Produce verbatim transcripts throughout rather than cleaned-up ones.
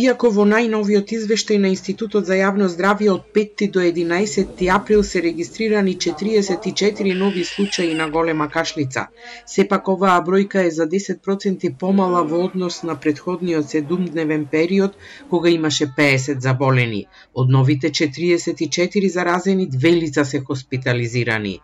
Иако во најновиот извештај на Институтот за јавно здравје од петти до единаесетти април се регистрирани четириесет и четири нови случаи на голема кашлица, сепак оваа бројка е за десет проценти помала во однос на претходниот седумдневен период, кога имаше пеесет заболени. Од новите четириесет и четири заразени, две лица се хоспитализирани.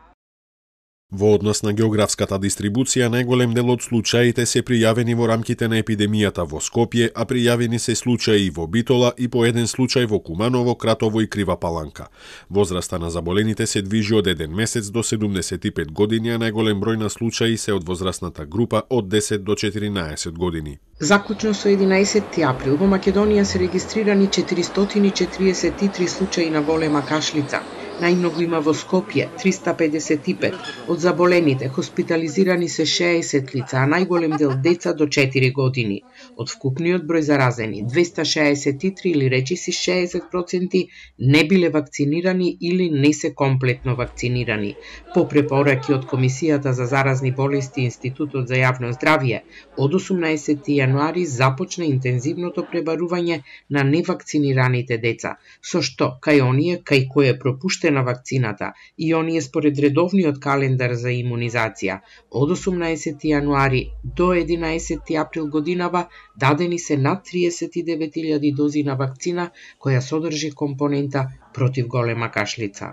Во однос на географската дистрибуција, најголем дел од случаите се пријавени во рамките на епидемијата во Скопје, а пријавени се случаи и во Битола и по еден случај во Куманово, Кратово и Крива Паланка. Возраста на заболените се движи од еден месец до седумдесет и пет години, а најголем број на случаи се од возрастната група од десет до четиринаесет години. Заклучно со единаесетти април во Македонија се регистрирани четиристотини и четириесет и три случаи на голема кашлица. Најмногу има во Скопје, триста педесет и пет. Од заболените хоспитализирани се шеесет лица, а најголем дел деца до четири години. Од вкупниот број заразени, двеста шеесет и три или речиси шеесет проценти не биле вакцинирани или не се комплетно вакцинирани. По препораки од Комисијата за заразни болести и Институтот за јавно здравје, од осумнаесетти јануари започна интензивното пребарување на невакцинираните деца, со што кај оние кај кои е пропуштена на вакцината и оние според редовниот календар за имунизација. Од осумнаесетти јануари до единаесетти април годинава дадени се над триесет и девет илјади дози на вакцина која содржи компонента против голема кашлица.